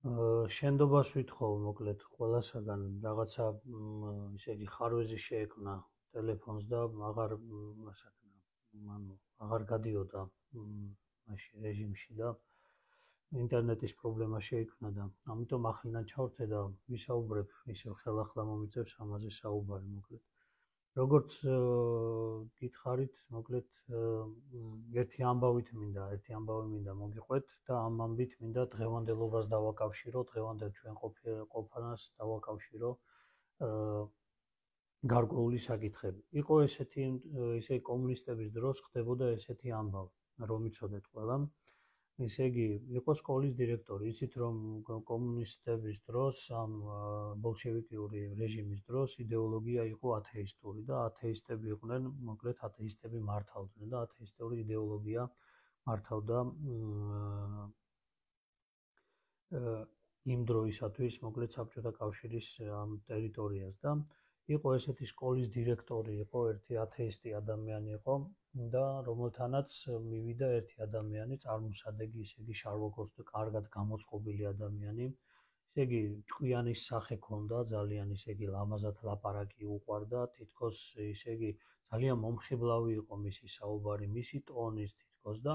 შენდობას ვითხოვ მოკლედ ყველასაგან რაღაცა ისე იგი ხარვეზი შეექმნა ტელეფონს და აღარ აღარ გადიოდა მაშინ რეჟიმში და ინტერნეტის პრობლემა შეიქმნა და ამიტომ ახლიდან ჩავრთე და ვისაუბრებ ისევ ხელახლა მომიწევს ამაზე საუბარი მოკლედ. როგორც გითხარით, მოკლედ ერთი ამბავი მინდა მოგიყვეთ და ამ ამბით მინდა დღევანდელობას დავაკავშირო, დღევანდელ ჩვენ ყოფანას დავაკავშირო გარკვეული საკითხები. იყო ესეთი ისე კომუნისტების დროს ხდებოდა ესეთი ამბავი, რომ იცოდეთ ყველამ. ისე იგი იყო სკოლის დირექტორი, იცით რომ კომუნისტების დროს ამ ბოლშევიკური რეჟიმის დროს იდეოლოგია იყო ათეისტური და ათეისტები იყვნენ, მოკლედ ათეისტები მართავდნენ და ათეისტური იდეოლოგია მართავდა იმ დროისათვის, მოკლედ საბჭოთა კავშირის ამ ტერიტორიას და იყო ესეთი სკოლის დირექტორი, იყო ერთი ათეისტი ადამიანი იყო და რომელთანაც მივიდა ერთი ადამიანი, წარმოსადეგი, ისე იგი შარლოკოსტი, კარგად გამოწყობილი ადამიანი, ისე იგი ჭკვიანის სახე ჰქონდა, ძალიან ისე იგი ლამაზად ლაპარაკი უყვარდა, თითქოს ისე იგი ძალიან მომხიბლავი იყო მისი საუბარი, მისი ტონის თითქოს და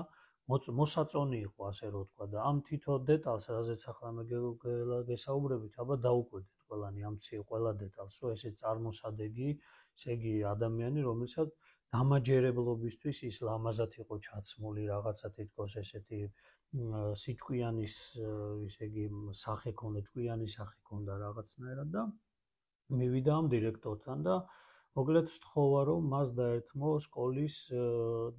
მოსაწონი იყო, ასე რომ ვთქვა და ამ თითო დეტალს, რაზეც ახლა მე გესაუბრებით, აბა დაუკვირდეთ ყველანი ამცი ყველა დეტალს, რომ ესე წარმოსადეგი, ესე იგი ადამიანი, რომელსაც დამაჯერებლობისთვის ის ლამაზად იყო ჩაცმული, რაღაცა თითქოს ესეთი სიჭკვიანის, ისე იგი სახე ჰქონდა, ჭკვიანი სახე ჰქონდა რაღაცნაირად და მივიდა ამ დირექტორთან და მოკლედ სთხოვა, რომ მას დაერთმო სკოლის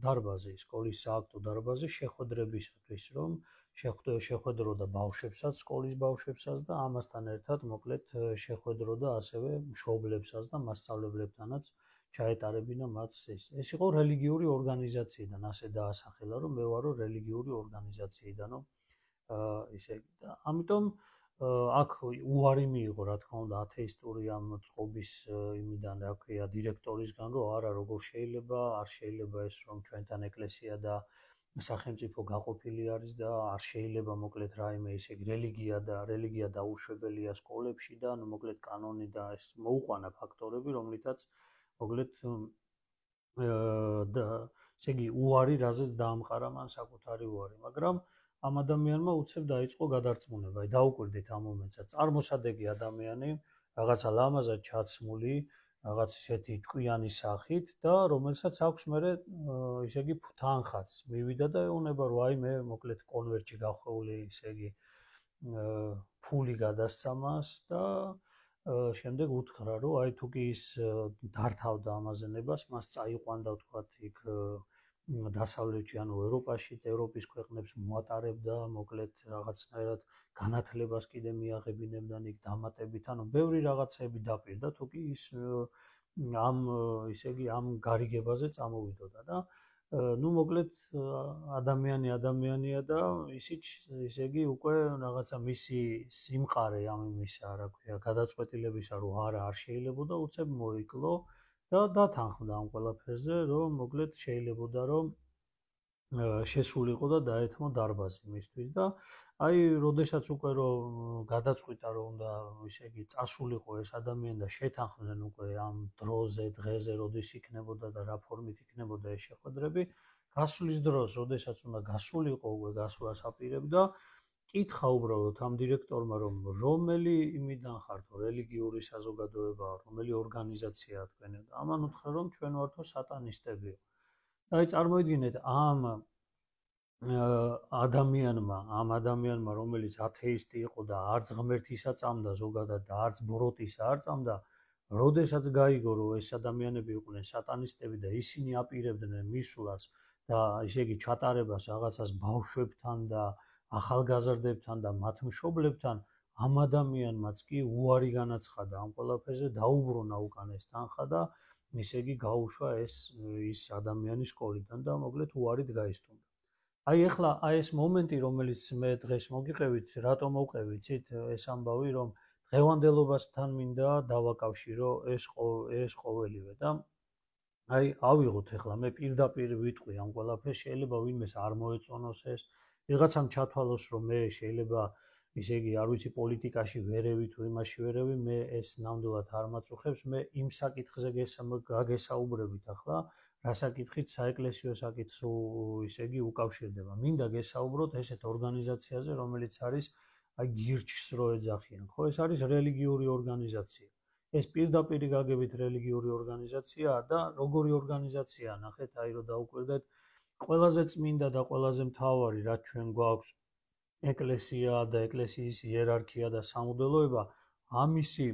დარბაზი, სკოლის სააქტო დარბაზი შეხვედრებისათვის, რომ შეხვედროდა ბავშვებსაც, სკოლის ბავშვებსაც და ამასთან ერთად მოკლედ შეხვედროდა ასევე მშობლებსაც და მასწავლებლებთანაც ჩაეტარებინა მათ ეს. ეს იყო რელიგიური ორგანიზაციიდან, ასე დაასახელა, რომ მე ვარო რელიგიური ორგანიზაციიდან, ისე და ამიტომ აქ უარი მიიღო, რა თქმა უნდა, ათეისტური ამ წყობის იმიდან, რა ქვია, დირექტორისგან, რომ არა, როგორ შეიძლება, არ შეიძლება ეს, რომ ჩვენთან ეკლესია და სახელმწიფო გაყოფილი არის და არ შეიძლება მოკლედ რაიმე ისე რელიგია დაუშვებელია სკოლებში და მოკლედ კანონი და ეს მოუყვანა ფაქტორები, რომლითაც მოკლედ ესე იგი უარი, რაზეც დაამყარა მან საკუთარი უარი, მაგრამ ამ ადამიანმა უცებ დაიწყო გადარწმუნება, დაუკვირდით ამ მომენტსაც. წარმოსადეგი ადამიანი, რაღაცა ლამაზად ჩაცმული, რაღაც ისეთი ჭკვიანი სახით და რომელსაც აქვს მერე ისე იგი თანხაც მივიდა და ეუბნება, რომ აი მე მოკლედ კონვერტში გახვეული, ისე იგი ფული გადასცა მას და შემდეგ უთხრა, რომ აი თუ კი ის დართავდა ამაზენებას, მას წაიყვანდა ვთქვათ იქ დასავლეთში, ანუ ევროპაში, ევროპის ქვეყნებს მოატარებდა, მოკლედ რაღაცნაირად განათლებას კიდე მიაღებინებდა იქ დამატებით, ანუ ბევრი რაღაცები დაპირდა, თუ კი ის ამ ისე იგი ამ გარიგებაზე წამოვიდოდა და ну მოკლედ ადამიანია და ისიც ისე იგი უკვე რაღაცა მისი სიმყარე ამ იმისა, რა ქვია, გადაწყვეტილებისა, რომ არა არ შეიძლებოდა უცებ მოიკლო და დათანხმდა ამ ყველაფერზე, რომ მოკლედ შეიძლებოდა, რომ შესულიყო და დაეთმო დარბაზი მისთვის და აი, როდესაც უკვე რომ გადაწყვიტა, რომ უნდა ისე იგი წასულიყო ეს ადამიანი და შეთანხმდნენ უკვე ამ დროზე, დღეზე, როდის იქნებოდა და რა ფორმით იქნებოდა ეს შეხვედრები, გასვლის დროს, როდესაც უნდა გასულიყო, უკვე გასვლას აპირებდა, კითხა უბრალოდ ამ დირექტორმა, რომ რომელი იმიდან ხართო, რელიგიური საზოგადოება, რომელი ორგანიზაციაა თქვენი და ამან უთხრა, რომ ჩვენ ვართო სატანისტები. და აი წარმოიდგინეთ ამ ადამიანმა, რომელიც ათეისტი იყო და არც ღმერთისა წამდა ზოგადად და არც ბოროტისა არ წამდა, როდესაც გაიგო, რომ ეს ადამიანები იყვნენ სატანისტები და ისინი აპირებდნენ მისვლას და ისე იგი ჩატარებას რაღაცას ბავშვებთან და ახალგაზრდებთან და მათ მშობლებთან, ამ ადამიანმაც კი უარი განაცხადა ამ ყველაფერზე, დაუბრუნა უკან ეს თანხა და ისე იგი გაუშვა ის ადამიანი სკოლიდან და მოკლედ უარით გაისტუმრა. აი ეხლა ეს მომენტი, რომელიც მე დღეს მოგიყევით, რატომ მოვყევი, იცით, ეს ამბავი, რომ დღევანდელობასთან მინდა დავაკავშირო ეს ყოველივე და აი ავიღოთ ეხლა მე პირდაპირ ვიტყვი ამ ყველაფერს, შეიძლება ვინმეს არ მოეწონოს ეს, ვიღაცამ ჩათვალოს, რომ მე შეიძლება ისე იგი არ ვიცი პოლიტიკაში ვერევი თუ იმაში ვერევი, მე ეს ნამდვილად არ მაწუხებს, მე იმ საკითხზე გაგესაუბრებით ახლა, რა საკითხით საეკლესიო საკითხს ისე იგი უკავშირდება. მინდა გესაუბროთ ესეთ ორგანიზაციაზე, რომელიც არის აი გირჩს რო ეძახიან, ხო, ეს არის რელიგიური ორგანიზაცია. ეს პირდაპირ გაგებით რელიგიური ორგანიზაციაა და როგორი ორგანიზაციაა, ნახეთ, აი რო დაუკვირდეთ, ყველაზე წმინდა და ყველაზე მთავარი, რაც ჩვენ გვაქვს, ეკლესია და ეკლესიის იერარქია და სამღვდელოება, ამისი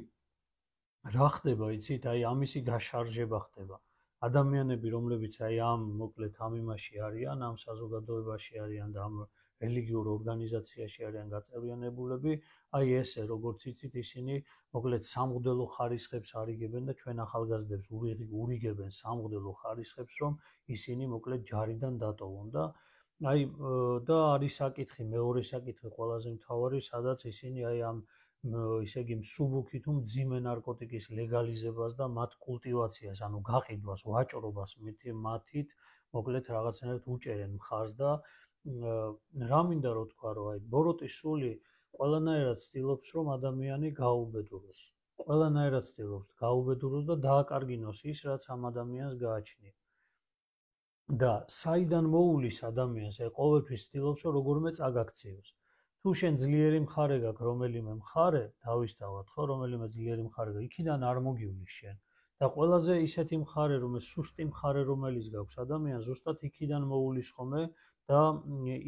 რა ხდება, იცით, აი ამისი გაშარჟება ხდება. ადამიანები, რომლებიც აი ამ მოკლედ ამ იმაში არიან, ამ საზოგადოებაში არიან და ამ რელიგიურ ორგანიზაციაში არიან გაწევრიანებულები, აი ესე როგორც იცით, ისინი მოკლედ სამღვდელო ხარისხებს არიგებენ და ჩვენ ახალგაზრდებს ურიგებენ სამღვდელო ხარისხებს, რომ ისინი მოკლედ ჯარიდან დატოვონ და აი და არის საკითხი, მეორე საკითხი ყველაზე მთავარი, სადაც ისინი აი ამ ისე იგი მსუბუქი თუ მძიმე ნარკოტიკის ლეგალიზებას და მათ კულტივაციას, ანუ გაყიდვას, ვაჭრობას მათით, მოკლედ რაღაცნაირად უჭერენ მხარს და რა მინდა რო თქვა, რომ აი ბოროტის სული ყველანაირად ცდილობს, რომ ადამიანი გაუბედუროს. ყველანაირად ცდილობს გაუბედუროს და დააკარგინოს ის, რაც ამ ადამიანს გააჩნია. და საიდან მოულის ადამიანს, აი ყოველთვის ცდილობს, რომ როგორმე წაგაქციოს. თუ შენ ძლიერი მხარე გაქვს, რომელიმე მხარე, დავისთავად, ხო, რომელიმე ძლიერი მხარე გაქვს, იქიდან არ მოგივლის შენ. და ყველაზე ისეთი მხარე, რომელიც სუსტი მხარე, რომელიც გაქვს ადამიანს, ზუსტად იქიდან მოულის ხომე და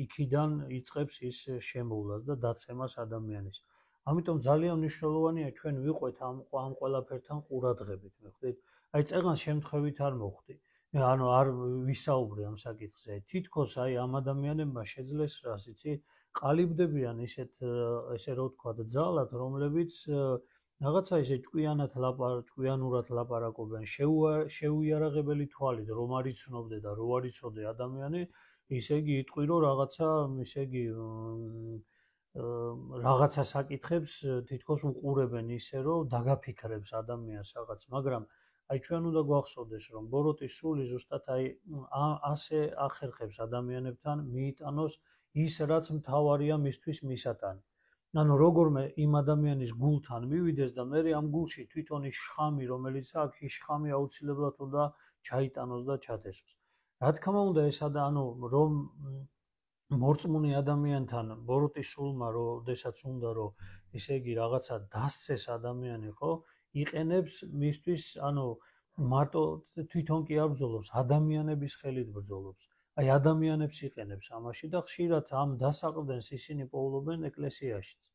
იქიდან იწყებს ის შემოვლას და დაცემას ადამიანის. ამიტომ ძალიან მნიშვნელოვანია ჩვენ ვიყვეთ ამ ყველაფერთან ყურადღებით, მიხვდით? აი წეგან შემთხვევით არ მოხდი. ანუ არ ვისაუბრე ამ საკითხზე. თითქოს აი ამ ადამიანებმა შეძლეს რას იცი, ყალიბდებიან ესე რო ვთქვათ, ძალად, რომლებიც რაღაცა ისე ჭკვიანურად ლაპარაკობენ, შეუიარაღებელი თვალით რომ არ იცნობდე და რო არ იცოდე ადამიანი, ისე იგი იტყვი რომ რაღაცა ისე იგი რაღაცა საკითხებს თითქოს უყურებენ ისე რომ დაგაფიქრებს ადამიანს რაღაც, მაგრამ აი ჩვენ უნდა გვახსოვდეს რომ ბოროტის სული ზუსტად აი ასე ახერხებს ადამიანებთან მიიტანოს ის რაც მთავარია მისთვის მისატანი. ანუ როგორმე იმ ადამიანის გულთან მივიდეს და მე ამ გულში თვითონ ის შხამი რომელიც აქვს, ის შხამი აუცილებლად უნდა ჩაიტანოს და ჩათესვოს. რა თქმა უნდა ეს ანუ რომ მორწმუნე ადამიანთან ბოროტის სულმა როდესაც უნდა რომ ისე იგი რაღაცა დასცეს ადამიანი, ხო, იყენებს მისთვის, ანუ მარტო თვითონ კი არ ბრძოლობს, ადამიანების ხელით ბრძოლობს. აი ადამიანებს იყენებს ამაში და ხშირად ამ დასაყრდენს ისინი პოულობენ ეკლესიაშიც.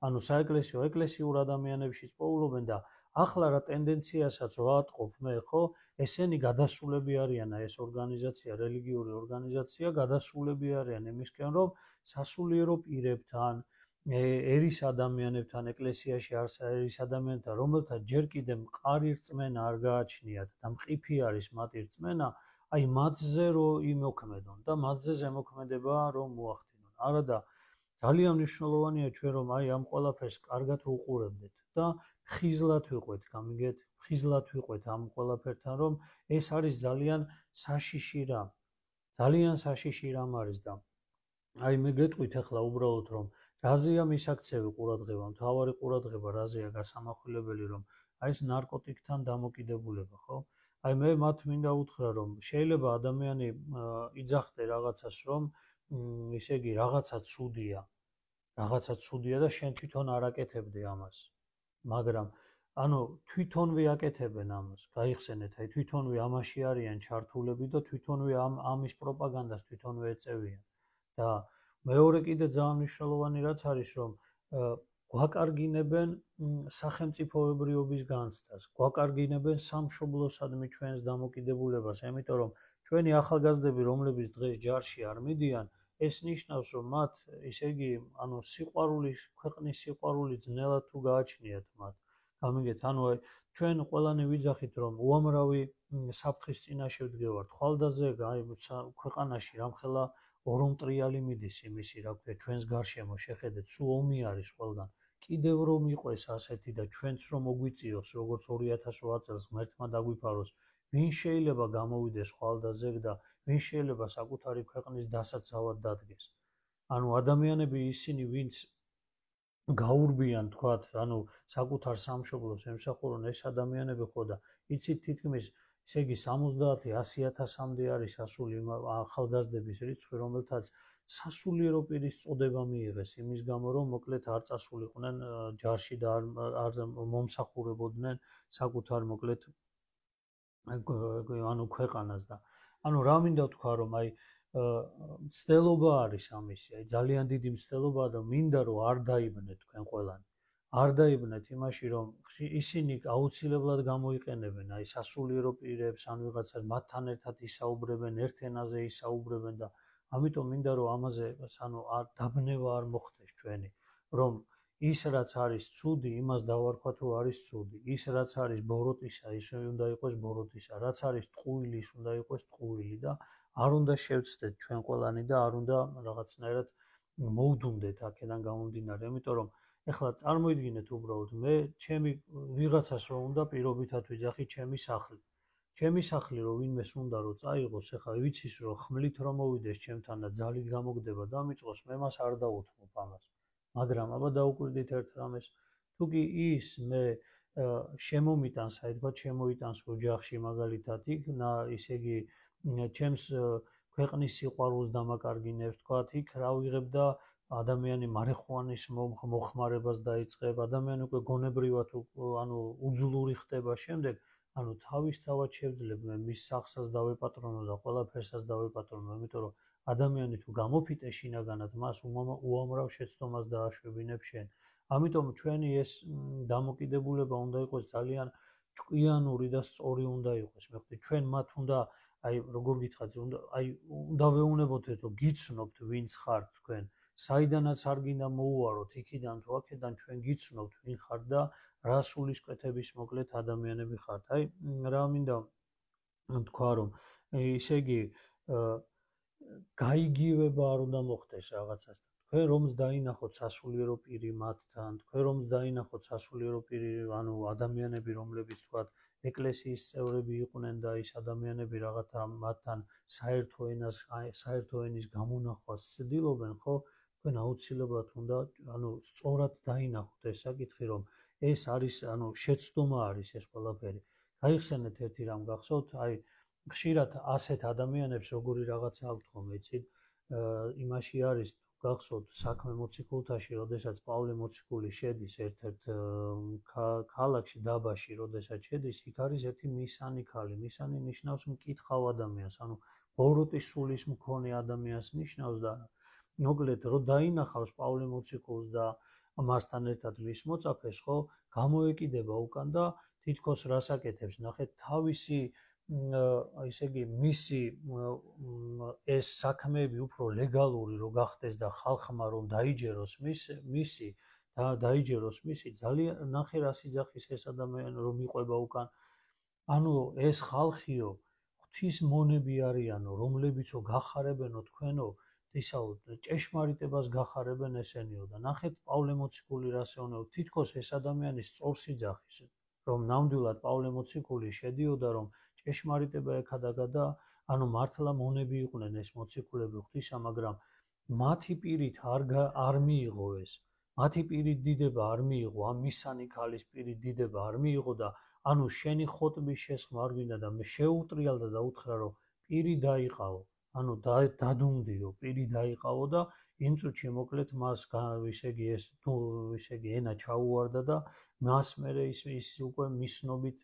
ანუ საეკლესიო ეკლესიურ ადამიანებშიც პოულობენ და ახლა რა ტენდენციასაც ვატყობ მე, ხო, ესენი გადასულები არიან, ეს ორგანიზაცია, რელიგიური ორგანიზაცია, გადასულები არიან იმისკენ, რომ სასულიერო პირებთან, ერის ადამიანებთან, ეკლესიაში ერის ადამიანებთან, რომელთა ჯერ კიდევ მყარი რწმენა არ გააჩნიათ და მყიფი არის მათი რწმენა, აი მათზე რო იმოქმედონ და მათზე ზემოქმედება რომ მოახდინონ. არადა ძალიან მნიშვნელოვანია ჩვენ რომ აი ამ ყველაფერს კარგად ვუყურებდეთ და ხიზლად ვიყვეთ, გამიგეთ, ხიზლად ვიყვეთ ამ ყველაფერთან, რომ ეს არის ძალიან საშიში რამ. ძალიან საშიში რამ არის და აი მე გეტყვით ახლა უბრალოდ რომ რაზეა მისაქცევი ყურადღება, მთავარი ყურადღება რაზეა გასამახვილებელი, რომ აი ეს ნარკოტიკთან დამოკიდებულება, ხო? აი მე მათ მინდა უთხრა, რომ შეიძლება ადამიანი იძახდე რაღაცას, რომ ისე იგი რაღაცა ცუდია და შენ თვითონ არ აკეთებდე ამას. მაგრამ ანუ თვითონვე აკეთებენ ამას, გაიხსენეთ, აი თვითონვე ამაში არიან ჩართულები და თვითონვე ამის პროპაგანდას თვითონვე ეწევიან. და მეორე კიდე ძალიან მნიშვნელოვანი რაც არის, რომ გვაკარგინებენ სახელმწიფოებრიობის განცდას, გვაკარგინებენ სამშობლოსადმი ჩვენს დამოკიდებულებას, ამიტომ რომ ჩვენი ახალგაზრდები, რომლებიც დღეს ჯარში არ მიდიან, ეს ნიშნავს, რომ მათ ისე იგი, ანუ ქვეყნის სიყვარული ძნელად თუ გააჩნიათ მათ. გამიგეთ, ანუ ჩვენ ყველანი ვიძახით, რომ უამრავი საფრთხის წინაშე ვდგევართ. ხვალდაზე ქვეყანაში რამხელა ორომტრიალი მიდის იმისი, რა ქვია, ჩვენს გარშემო შეხედეთ, სულ ომი არის ყველგან. კიდევ რომ იყოს ასეთი და ჩვენც რომ მოგვიწიოს, როგორც 2008 წელს ღმერთმა დაგვიფაროს, ვინ შეიძლება გამოვიდეს ხვალდაზე და ვინ შეიძლება საკუთარი ქვეყნის დასაცავად დადგეს. ანუ ადამიანები ისინი, ვინც გაურბიან თქვათ, ანუ საკუთარ სამშობლოს ემსახურონ ეს ადამიანები ხო და იცით თითქმის ესე იგი 70-100,000-მდე არის ასული ახალგაზრდების რიცხვი, რომელთაც სასულიერო პირის წოდება მიიღეს იმის გამო, რომ მოკლედ არ წასულიყვნენ ჯარში და არ მომსახურებოდნენ საკუთარ მოკლედ ანუ ქვეყანას და ანუ რა მინდა თქვა, რომ აი მცდელობა არის ამისი, აი ძალიან დიდი მცდელობაა და მინდა რომ არ დაიბნეთ თქვენ ყველანი. არ დაიბნეთ იმაში, რომ ისინი აუცილებლად გამოიყენებენ აი სასულიერო პირებს, ან ვიღაცას მათთან ერთად ისაუბრებენ, ერთ ენაზე ისაუბრებენ და ამიტომ მინდა რომ ამაზე ანუ დაბნევა არ მოხდეს ჩვენი, რომ ის რაც არის ცუდი, იმას დავარქვათ რომ არის ცუდი. ის რაც არის ბოროტისა, ის უნდა იყოს ბოროტისა. რაც არის ტყუილი, ის უნდა იყოს ტყუილი და არ უნდა შევცდეთ ჩვენ ყველანი და არ უნდა რაღაცნაირად მოვდუნდეთ აქედან გამომდინარე, იმიტომ რომ ეხლა წარმოიდგინეთ უბრალოდ მე ჩემი ვიღაცას რომ უნდა პირობითად ვიძახი ჩემი სახლი. ჩემი სახლი რომ ვინმეს უნდა რომ წაიღოს, ეხლა ვიცის რომ ხმლით რომ მოვიდეს ჩემთან და ძალით გამოგდება და მიწყოს, მე მას არ დაუთმობ ამას. მაგრამ აბა დაუკვირდით ერთ რამეს, თუ კი ის მე შემომიტანს, აი თქვა შემოიტანს ოჯახში მაგალითად იქ ისე იგი ჩემს ქვეყნის სიყვარულს დამაკარგინებს, თქვა იქ რა ვიღებ და ადამიანი მარიხუანის მოხმარებას დაიწყებ, ადამიანი უკვე გონებრივად ანუ უძლური ხდება, შემდეგ ანუ თავისთავად შევძლებ მე მის სახსაც დავეპატრონო და ყველაფერსაც დავეპატრონო, იმიტომ რომ ადამიანი თუ გამოფიტე შინაგანად, მას უამრავ შეცდომას დააშვებინებ შენ. ამიტომ ჩვენი ეს დამოკიდებულება უნდა იყოს ძალიან ჭკვიანური და სწორი უნდა იყოს. მე ხვდები ჩვენ მათ უნდა აი როგორ გითხრათ, აი უნდა ვეუბნებოთ, რომ გიცნობთ ვინც ხართ თქვენ. საიდანაც არ გინდა მოუაროთ, იქიდან თუ აქედან ჩვენ გიცნობთ ვინ ხართ და რა სულისკვეთების მოკლედ ადამიანები ხართ. აი რა მინდა თქვა, რომ ისე იგი გაიგივება არ უნდა მოხდეს რაღაცასთან. თქვენ რომს დაინახოთ სასულიერო პირი მათთან, თქვენ რომს დაინახოთ სასულიერო პირი, ანუ ადამიანები, რომლებიც თქვათ ეკლესიის წევრები იყვნენ და ის ადამიანები რაღაცა მათთან საერთო ენის გამონახვას ცდილობენ, ხო? თქვენ აუცილებლად უნდა ანუ სწორად დაინახოთ ეს საკითხი, რომ ეს არის ანუ შეცდომა არის ეს ყველაფერი. გაიხსენეთ ერთი რამ გახსოვთ, აი ხშირად ასეთ ადამიანებს როგორი რაღაცა აქვთ ხოლმე, იცით? იმაში არის გახსოვთ საქმე მოციქულთაში, როდესაც პავლე მოციქული შედის ერთ-ერთ ქალაქში, დაბაში, როდესაც შედის, იქ არის ერთი მისანი ქალი. მისანი ნიშნავს მკითხავ ადამიანს, ანუ ბოროტის სულის მქონე ადამიანს ნიშნავს და მოკლედ რომ დაინახავს პავლე მოციქულს და მასთან ერთად მის მოწაფეს, ხო, გამოეკიდება უკან და თითქოს რას აკეთებს, ნახეთ, თავისი ისე იგი მისი ეს საქმეები უფრო ლეგალური რო გახდეს და ხალხმა რომ დაიჯეროს მისი ძალიან ნახე რა სიძახის ეს ადამიანი რომ იყვება უკან. ანუ ეს ხალხიო ღვთის მონები არიანო, რომლებიცო გახარებენო თქვენო ისაო ჭეშმარიტებას გახარებენ ესენიო და ნახეთ პავლე მოციქული რას ეუბნება, თითქოს ეს ადამიანი სწორს იძახის, რომ ნამდვილად პავლე მოციქული შედიოდა, რომ ჭეშმარიტება ეკადაგა და ანუ მართლა მონები იყვნენ ეს მოციქულები ღვთისა, მაგრამ მათი პირით არ მიიღო ეს. მათი პირით დიდება არ მიიღო, ამ მისანი ქალის პირით დიდება არ მიიღო და ანუ შენი ხოტბის შესხმა არ გვინდა და მე შეუტრიალდა და უთხრა, რომ პირი დაიყავო. ანუ დადუნდიო, პირი დაიყავო და იმ წუთში მოკლედ მას ისე იგი ეს თუ ისე იგი ენა ჩაუვარდა და მას მერე ის უკვე მისნობით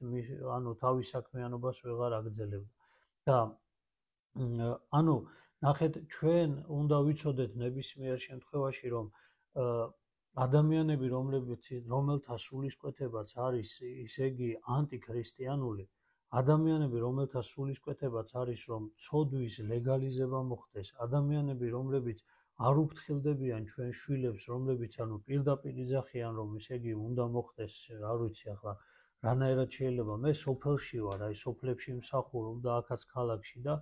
ანუ თავის საქმიანობას ვეღარ აგრძელებდა. და ანუ ნახეთ, ჩვენ უნდა ვიცოდეთ ნებისმიერ შემთხვევაში, რომ ადამიანები, რომელთა სულისკვეთებაც არის ისე იგი ანტიქრისტიანული, ადამიანები, რომელთა სულისკვეთებაც არის, რომ ცოდვის ლეგალიზება მოხდეს, ადამიანები, რომლებიც არ უფრთხილდებიან ჩვენ შვილებს, რომლებიც ანუ პირდაპირ იძახიან, რომ ისე იგი უნდა მოხდეს, არ ვიცი ახლა რანაირად შეიძლება, მე სოფელში ვარ, აი სოფლებში მსახურობ და აქაც ქალაქში და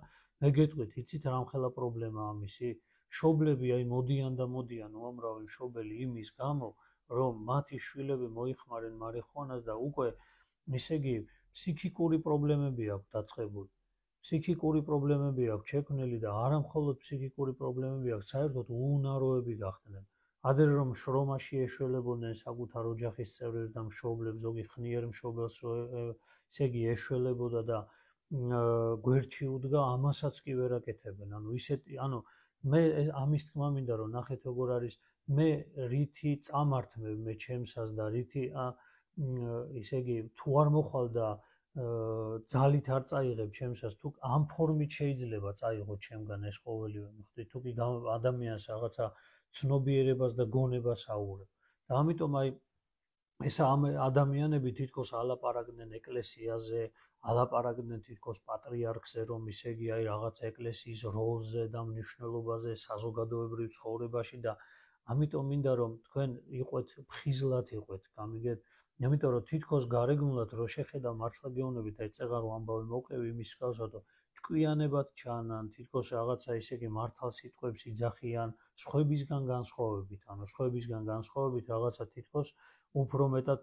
მე გეტყვით, იცით რამხელა პრობლემაა ამისი? მშობლები აი მოდიან და მოდიან უამრავი მშობელი იმის გამო, რომ მათი შვილები მოიხმარენ მარიხუანას და უკვე ისე იგი ფსიქიკური პრობლემები აქვს დაწყებული. ფსიქიკური პრობლემები აქვს შექმნილი და არა მხოლოდ ფსიქიკური პრობლემები აქვს, საერთოდ უუნაროები გახდნენ. ადრე რომ შრომაში ეშველებოდნენ საკუთარ ოჯახის წევრებს და მშობლებს, ზოგი ხნიერ მშობელს ესე იგი ეშველებოდა და გვერდში უდგა, ამასაც კი ვერ აკეთებენ. ანუ მე ამის თქმა მინდა რომ ნახეთ როგორ არის, მე რითი წამართმევ მე ჩემსას და რითი ესე იგი თუ არ მოხვალ და ძალით არ წაიღებ ჩემსას, თუ ამ ფორმით შეიძლება წაიღო ჩემგან ეს ყოველივე, მიხვდით, თუ კი ადამიანს რაღაცა ცნობიერებას და გონებას აუღებ. და ამიტომ აი ეს ადამიანები თითქოს ალაპარაკდნენ ეკლესიაზე, ალაპარაკდნენ თითქოს პატრიარქზე, რომ ისე იგი აი რაღაც ეკლესიის როლზე და მნიშვნელობაზე საზოგადოებრივ ცხოვრებაში და ამიტომ მინდა რომ თქვენ იყვეთ ფხიზლად იყვეთ, გამიგეთ? იმიტომ რომ თითქოს გარეგნულად რო შეხედა მართლა გეუბნებით, აი წეღარ ამბავი მოვყევი იმის მსგავსად, ჭკვიანებად ჩანან, თითქოს რაღაცა ისე იგი მართალ სიტყვებს იძახიან, სხვებისგან განსხვავებით რაღაცა თითქოს უფრო მეტად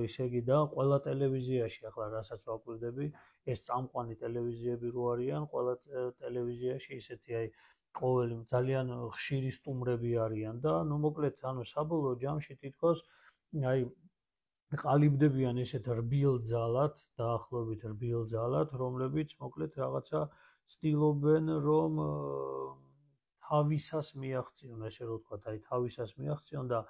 ისე იგი და ყველა ტელევიზიაში ახლა რასაც ვაკვირდები, ეს წამყვანი ტელევიზიები რო არიან, ყველა ტელევიზიაში ისეთი აი ყოველი ძალიან ხშირი სტუმრები არიან და ნუ მოკლედ საბოლოო ჯამში თითქოს აი ყალიბდებიან ესეთ რბილ ძალად, დაახლოებით რბილ ძალად, რომლებიც მოკლედ რაღაცა ცდილობენ რომ თავისას მიაღწიონ, ესე რომ ვთქვათ, აი თავისას მიაღწიონ და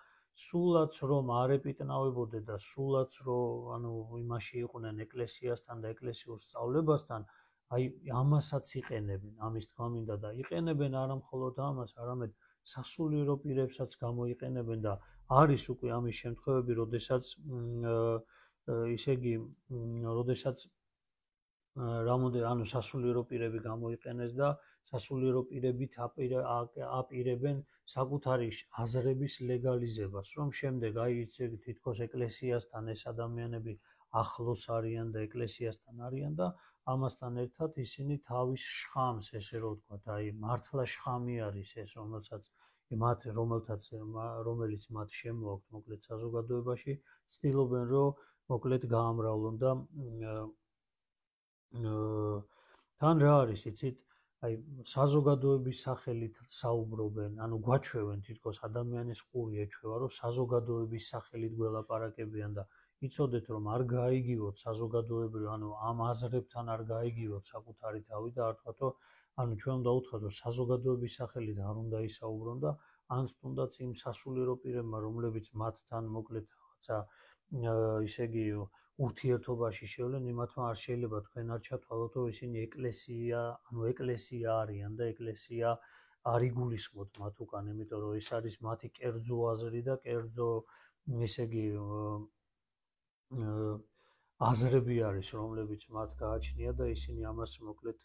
სულაც რომ არ ეპიტნავებოდე და სულაც რომ იმაში იყვნენ ეკლესიასთან და ეკლესიურ სწავლებასთან, აი ამასაც იყენებენ, ამის თქმა მინდა და იყენებენ არა მხოლოდ ამას, არამედ სასულიერო პირებსაც გამოიყენებენ და არის უკვე ამის შემთხვევები, როდესაც ისე იგი, როდესაც სასულიერო პირები გამოიყენეს და სასულიერო პირებით აპირებენ საკუთარი აზრების ლეგალიზებას, რომ შემდეგ აი თითქოს ეკლესიასთან ეს ადამიანები ახლოს არიან და ეკლესიასთან არიან და ამასთან ერთად ისინი თავის შხამს, ესე რომ ვთქვათ, აი მართლა შხამი არის ეს, რომელიც მათ შემოაქვთ მოკლედ საზოგადოებაში, ცდილობენ რომ მოკლედ გაამრავლონ და თან რა არის, იცით, აი საზოგადოების სახელით საუბრობენ, გვაჩვევენ თითქოს ადამიანის ყური ეჩვევა, რომ საზოგადოების სახელით გველაპარაკებიან და იცოდეთ რომ არ გაიგივოთ საზოგადოებრივ, ამ აზრებთან არ გაიგივოთ საკუთარი თავი და არ თქვათ, რომ ჩვენ უნდა უთხრათ, რომ საზოგადოების სახელით არ უნდა ისაუბრონ და ან თუნდაც იმ სასულიერო პირებმა, რომლებიც მათთან მოკლედ რაღაცა ისე იგი ურთიერთობაში შევლენ, იმათმა არ შეიძლება თქვენ არ ჩათვალოთ, რომ ისინი ეკლესია არიან და ეკლესია არ იგულისხმოთ მათ უკან, იმიტომ რომ ეს არის მათი კერძო აზრი და კერძო ისე იგი აზრები არის, რომლებიც მათ გააჩნია და ისინი ამას მოკლედ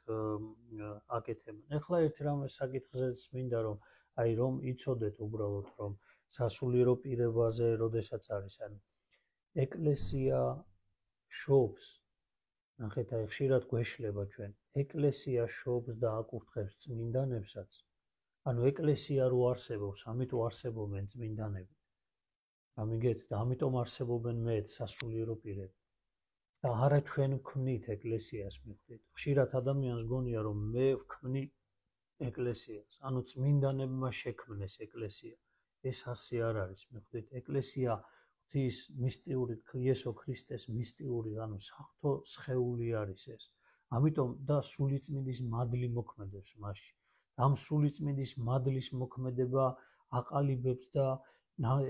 აკეთებენ. ეხლა ერთ რამე საკითხზეც მინდა რომ აი რომ იცოდეთ უბრალოდ რომ სასულიერო პირებაზე როდესაც არის, ეკლესია შობს, ნახეთ აი ხშირად გვეშლება ჩვენ, ეკლესია შობს და აკურთხებს წმინდანებსაც, ეკლესია რო არსებობს, ამიტომ არსებობენ წმინდანები. გამიგეთ და ამიტომ არსებობენ მეც სასულიერო პირები. და არა ჩვენ ვქმნით ეკლესიას, მიხვდით. ხშირად ადამიანს გონია რომ მე ვქმნი ეკლესიას, წმინდანებმა შექმნეს ეკლესია. ეს ასე არ არის, მიხვდით. ეკლესია ღვთის მისტიური, იესო ქრისტეს მისტიური, საღვთო სხეული არის ეს. ამიტომ და სულიწმინდის მადლი მოქმედებს მასში. ამ სულიწმინდის მადლის მოქმედება აყალიბებს და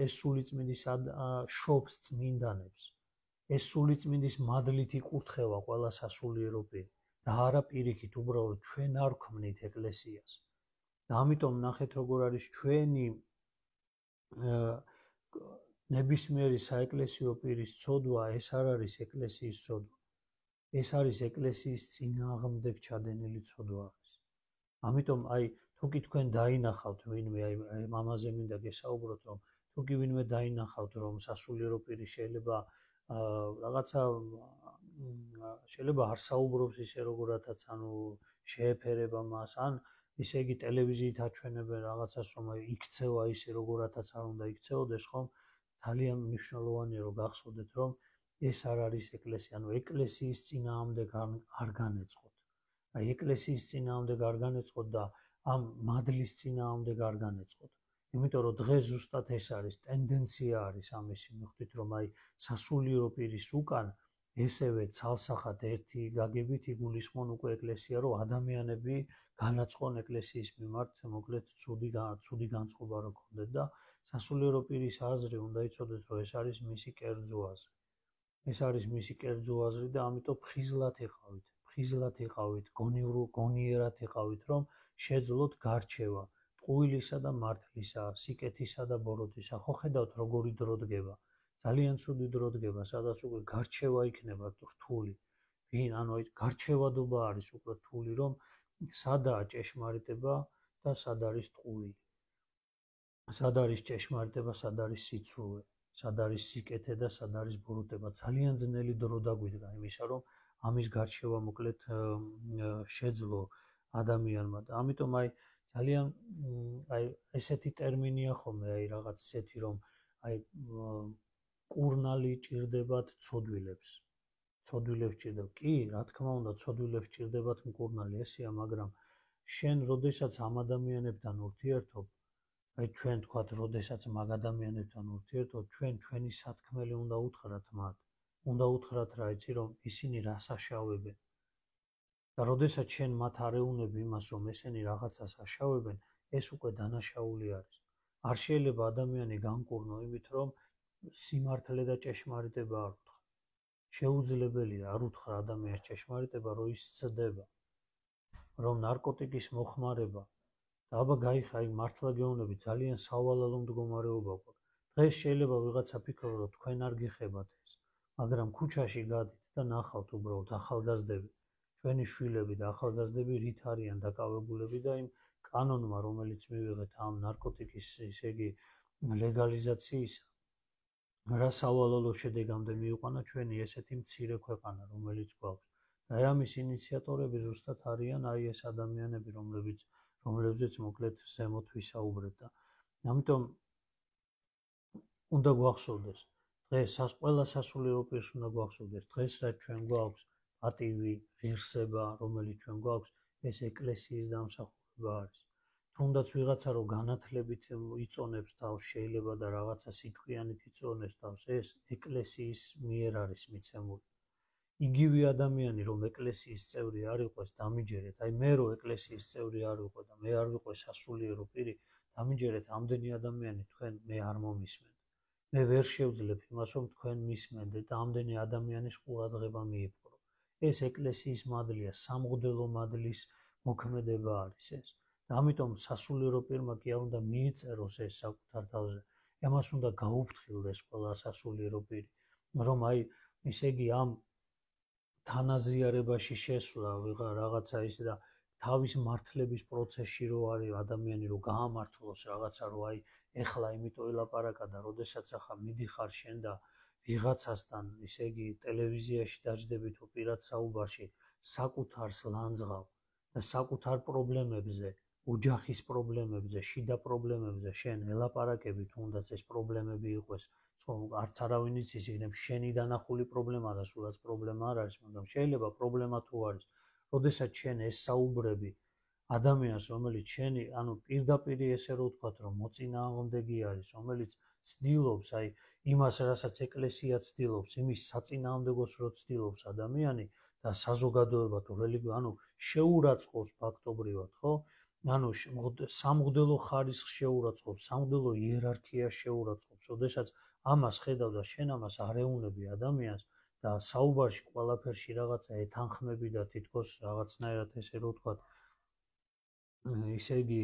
ეს სულიწმინდის შობს წმინდანებს. ეს სულიწმინდის მადლით იკურთხება ყველა სასულიერო პირი და არა პირიქით, უბრალოდ ჩვენ არ ვქმნით ეკლესიას. და ამიტომ ნახეთ როგორ არის ჩვენი ნებისმიერი საეკლესიო პირის ცოდვა, ეს არ არის ეკლესიის ცოდვა. ეს არის ეკლესიის წინააღმდეგ ჩადენილი ცოდვა არის. ამიტომ აი თუ კი თქვენ დაინახავთ ვინმე, აი ამაზე მინდა გესაუბროთ, რომ თუ კი ვინმე დაინახავთ, რომ სასულიერო პირი შეიძლება რაღაცა შეიძლება არ საუბრობს ისე როგორათაც შეეფერება მას, ან ისე იგი ტელევიზიით აჩვენებენ რაღაცას, რომ იქცევა ისე როგორათაც არ უნდა იქცეოდეს, ხომ? ძალიან მნიშვნელოვანია რომ გახსოვდეთ, რომ ეს არ არის ეკლესია, ეკლესიის წინააღმდეგ არ განეწყოთ. აი ეკლესიის წინააღმდეგ არ განეწყოთ და ამ მადლის წინააღმდეგ არ განეწყოთ. იმიტომ რომ დღეს ზუსტად ეს არის ტენდენცია არის ამისი, მიხვდით რომ აი სასულიერო პირის უკან ესევე ცალსახად ერთი გაგებით იგულისხმონ უკვე ეკლესია, რომ ადამიანები განაწყონ ეკლესიის მიმართ, მოკლედ ცუდი განწყობა რო გქონდეთ და სასულიერო პირის აზრი უნდა იცოდეთ, რომ ეს არის მისი კერძო აზრი. ეს არის მისი კერძო აზრი და ამიტომ ფხიზლად იყავით, გონიერად იყავით, რომ შეძლოთ გარჩევა ტყუილისა და მართლისა, სიკეთისა და ბოროტისა. ხო ხედავთ როგორი დრო დგება. ძალიან ცუდი დრო დგება, სადაც უკვე გარჩევა იქნება რთული. ანუ გარჩევადობა არის უკვე რთული, რომ სადაა ჭეშმარიტება და სად არის ტყუილი. სად არის ჭეშმარიტება, სად არის სიცრუე, სად არის სიკეთე და სად არის ბოროტება. ძალიან ძნელი დრო დაგვიდგა იმისა, რომ ამის გარჩევა მოკლედ შეძლო ადამიანმა და ამიტომ ძალიან ესეთი ტერმინია ხოლმე რაღაც ესეთი რომ კურნალი ჭირდებათ ცოდვილებს. ცოდვილებს ჭირდებათ. კი, რა თქმა უნდა, ცოდვილებს ჭირდებათ მკურნალი ესეა, მაგრამ შენ როდესაც ამ ადამიანებთან ურთიერთობ, ჩვენ თქვათ, როდესაც მაგ ადამიანებთან ურთიერთობ, ჩვენი სათქმელი უნდა უთხრათ მათ. უნდა უთხრათ რა იცი რომ ისინი რას აშავებენ. და როდესაც შენ მათ არ ეუბნები იმას, რომ ესენი რაღაცას აშავებენ, ეს უკვე დანაშაული არის. არ შეიძლება ადამიანი განკურნო იმით, რომ სიმართლე და ჭეშმარიტება არ უთხრა. შეუძლებელია არ უთხრა ადამიანს ჭეშმარიტება, რომ ის ცდება, რომ ნარკოტიკის მოხმარება და აბა გაიხარ, მართლა გეუბნები, ძალიან სავალალო მდგომარეობა გვაქვს. დღეს შეიძლება ვიღაცა ფიქრობს, რომ თქვენ არ გიხებათ ეს, მაგრამ ქუჩაში გადით და ნახავთ უბრალოდ ახალგაზრდები, ჩვენი შვილები და ახალგაზრდები რით არიან დაკავებულები და იმ კანონმა, რომელიც მივიღეთ ამ ნარკოტიკის, ისე იგი ლეგალიზაციისა, რა სავალალო შედეგამდე მიიყვანა ჩვენი ესეთი მცირე ქვეყანა, რომელიც გვაქვს. და ამის ინიციატორები ზუსტად არიან ეს ადამიანები, რომლებზეც მოკლედ ზემოთ ვისაუბრეთ და ამიტომ უნდა გვახსოვდეს, დღეს ყველა სასულიერო პირს უნდა გვახსოვდეს, დღეს რაც ჩვენ გვაქვს პატივი, ღირსება, რომელიც ჩვენ გვაქვს, ეს ეკლესიის დამსახურება არის. თუნდაც ვიღაცა რომ განათლებით იწონებს თავს, შეიძლება და რაღაცა სიჩქიანით იწონებს თავს, ეს ეკლესიის მიერ არის მიცემული. იგივე ადამიანი რომ ეკლესიის წევრი არ იყოს, დამიჯერეთ, მე რო ეკლესიის წევრი არ ვიყო და მე არ ვიყო სასულიერო პირი, დამიჯერეთ, ამდენი ადამიანი თქვენ მე არ მომისმენთ. მე ვერ შევძლებ იმას, რომ თქვენ მისმენდეთ და ამდენი ადამიანის ყურადღება მიიპყრო. ეს ეკლესიის მადლია, სამღვდელო მადლის მოქმედება არის ეს. და ამიტომ სასულიერო პირმა კი არ უნდა მიიწეროს ეს საკუთარ თავზე. ამას უნდა გაუფრთხილდეს ყველა სასულიერო პირი, რომ ისე იგი ამ თანაზიარებაში შესვლა რაღაცა ის და თავის მართლების პროცესში რო არის ადამიანი რო გაამართლოს რაღაცა რო ეხლა იმიტომ ელაპარაკა და როდესაც ახლა მიდიხარ შენ და ვიღაცასთან ისე იგი ტელევიზიაში დაждები თუ პირად საუბარში საკუთარს ლანძღავ და საკუთარ პრობლემებზე, ოჯახის პრობლემებზე, შიდა პრობლემებზე შენ ელაპარაკები თუნდაც ეს პრობლემები იყოს, არც არავინ იცის იქნებ შენი დანახული პრობლემა და სულაც პრობლემა არ არის, მაგრამ შეიძლება პრობლემა თუ არის, როდესაც შენ ეს საუბრები ადამიანს, რომელიც შენი, პირდაპირ ესე რო ვთქვათ, რომ მოწინააღმდეგე არის, რომელიც ცდილობს იმას, რასაც ეკლესია ცდილობს, იმის საწინააღმდეგოს რო ცდილობს ადამიანი და საზოგადოება თუ რელიგია, შეურაცხყოფს ფაქტობრივად, ხო? სამღვდელო ხარისხს შეურაცხყოფს, სამღვდელო იერარქიას შეურაცხყოფს, როდესაც ამას ხედავ და შენ ამას არ ეუბნები ადამიანს და საუბარში ყველაფერში რაღაცა ეთანხმები და თითქოს რაღაცნაირად ესე რო ვთქვათ, ისე იგი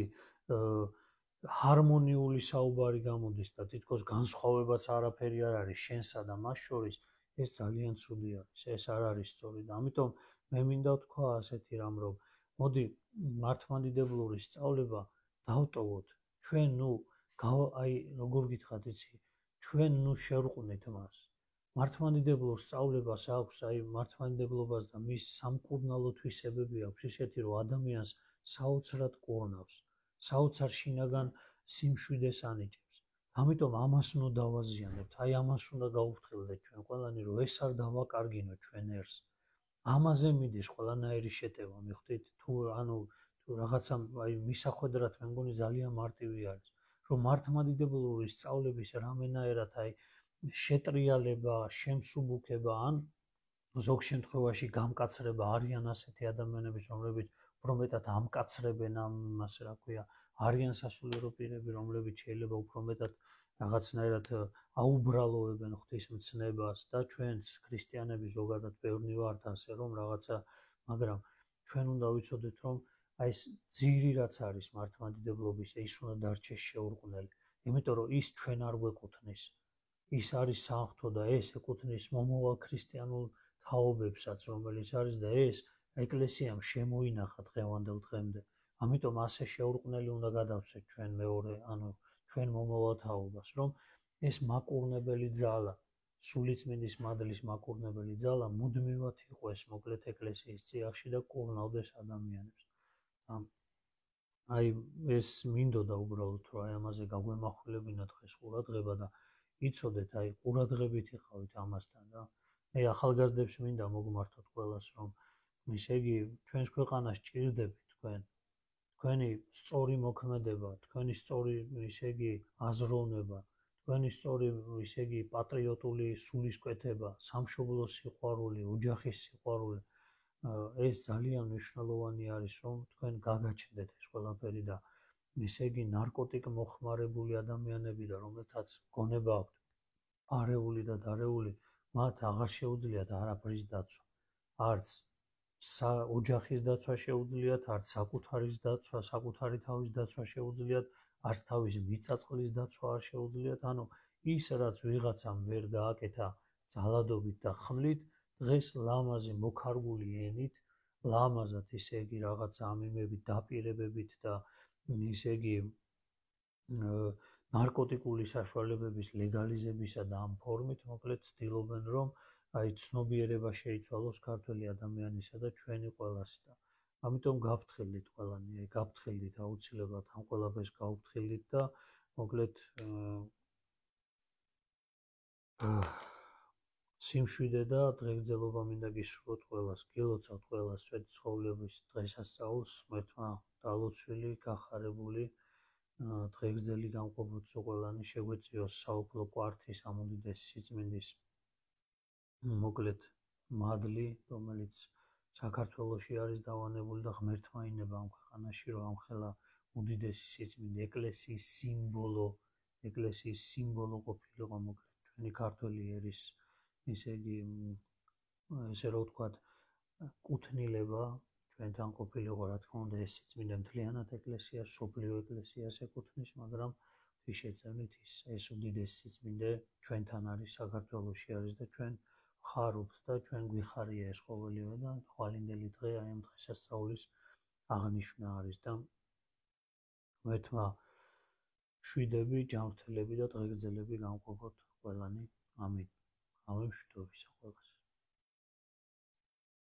ჰარმონიული საუბარი გამოდის და თითქოს განსხვავებაც არაფერი არ არის შენსა და მას შორის, ეს ძალიან ცუდი არის, ეს არ არის სწორი და ამიტომ მე მინდა ვთქვა ასეთი რამ, რომ მოდი მართლმადიდებლური სწავლება დავტოვოთ, ჩვენ როგორ გითხრათ იცი, ჩვენ შევრყვნით მას. მართლმადიდებლურ სწავლებას აქვს, მართლმადიდებლობას და მის სამკურნალო თვისებები აქვს ისეთი, რომ ადამიანს საოცრად კურნავს, საოცარ შინაგან სიმშვიდეს ანიჭებს. ამიტომ ამას უნდა დავაზიანებთ, ამას უნდა გავუფრთხილდეთ ჩვენ ყველანი, რომ ეს არ დავაკარგინოთ ჩვენ ერს. ამაზე მიდის ყველანაირი შეტევა, მიხვდით? თუ რაღაცა მისახვედრად მე მგონი ძალიან მარტივი არის. რომ მართლმადიდებლური სწავლების რამენაერად შეტრიალება, შემსუბუქება ან ზოგ შემთხვევაში გამკაცრება არიან ასეთი ადამიანების, რომლებიც უფრო მეტად ამკაცრებენ ამ ასე რა ქვია, არიან სასულიერო პირები, რომლებიც შეიძლება უფრო მეტად რაღაცნაირად აუბრალოებენ ღვთისმცნებას და ჩვენც ქრისტიანები ზოგადად ბევრნი ვართ ასე რომ რაღაცა, მაგრამ ჩვენ უნდა ვიცოდეთ რომ ეს ძირი რაც არის მართლმადიდებლობის, ის უნდა დარჩეს შეურყვნელი, იმიტომ რომ ის ჩვენ არ გვეკუთვნის. ის არის საღვთო და ეს ეკუთვნის მომავალ ქრისტიანულ თაობებსაც, რომელიც არის და ეს ეკლესიამ შემოინახა დღევანდელ დღემდე. ამიტომ ასე შეურყვნელი უნდა გადავცეთ ჩვენ მეორე, ანუ ჩვენ მომავალ თაობას, რომ ეს მაკურნებელი ძალა, სულიწმინდის მადლის მაკურნებელი ძალა მუდმივად იყოს მოკლედ ეკლესიის წიაღში და კურნავდეს ადამიანებს. აი ეს მინდოდა უბრალოდ რომ ამაზე გაგვემახვილებინა დღეს ყურადღება და იცოდეთ ყურადღებით იყავით ამასთან და მე ახალგაზრდებს მინდა მოგმართოთ ყველას რომ ისე იგი ჩვენს ქვეყანას ჭირდებით თქვენი სწორი მოქმედება, თქვენი სწორი ისე იგი აზროვნება, თქვენი სწორი ისე იგი პატრიოტული სულისკვეთება, სამშობლოს სიყვარული, ოჯახის სიყვარული ეს ძალიან მნიშვნელოვანი არის რომ თქვენ გაგაჩნდეთ ეს ყველაფერი და ისე იგი ნარკოტიკ მოხმარებული ადამიანები და რომელთაც გონება აქვთ არეული და დარეული მათ აღარ შეუძლიათ არაფრის დაცვა არც ოჯახის დაცვა შეუძლიათ არც საკუთარი თავის დაცვა შეუძლიათ არც თავის მიწაწყლის დაცვა არ შეუძლიათ ანუ ის რაც ვიღაცამ ვერ გააკეთა ძალადობით და ხმლით დღეს ლამაზი მოქარგული ენით, ლამაზად ისე იგი რაღაცა ამიმებით, დაპირებებით და ისე იგი ნარკოტიკული საშუალებების ლეგალიზებისა და ამ ფორმით მოკლედ ცდილობენ რომ ცნობიერება შეიცვალოს ქართველი ადამიანისა და ჩვენი ყველასი და ამიტომ გავფრთხილდით ყველანი, გავფრთხილდით აუცილებლად ამ ყველაფერს გავფრთხილდით და მოკლედ სიმშვიდე და დღეგრძელობა მინდა გისურვოთ ყველას, გილოცავთ ყველას სვეტი ცხოვრების დღესასწაულს, ღმერთმა დალოცვილი, გახარებული, დღეგრძელი გამყოფოთ ყველანი, შეგვეწიოს საუფლო კვართის ამ უდიდესი სიწმინდის მოკლედ მადლი, რომელიც საქართველოში არის დავანებული და ღმერთმა ინება ამ ქვეყანაში, რომ ამხელა უდიდესი სიწმინდე ეკლესიის სიმბოლო ყოფილიყო მოკლედ ჩვენი ქართველი ერის ისე იგი ესე რომ ვთქვათ კუთვნილება ჩვენთან ყოფილიყო რა თქმა უნდა ეს სიწმინდე მთლიანად ეკლესიას, სოფლიო ეკლესიას ეკუთვნის, მაგრამ შეწევნით ეს უდიდესი სიწმინდე ჩვენთან არის, საქართველოში არის და ჩვენ ვხარობთ და ჩვენ გვიხარია ეს ყოველივე და თვალინდელი დღე აი ამ დღესასწაულის აღნიშვნა არის და ღმერთმა შვიდები, ჯანმრთელები და დღეგრძელები გამყოფოთ ყველანი. ამინ. ამემშვიდობისა ყველას.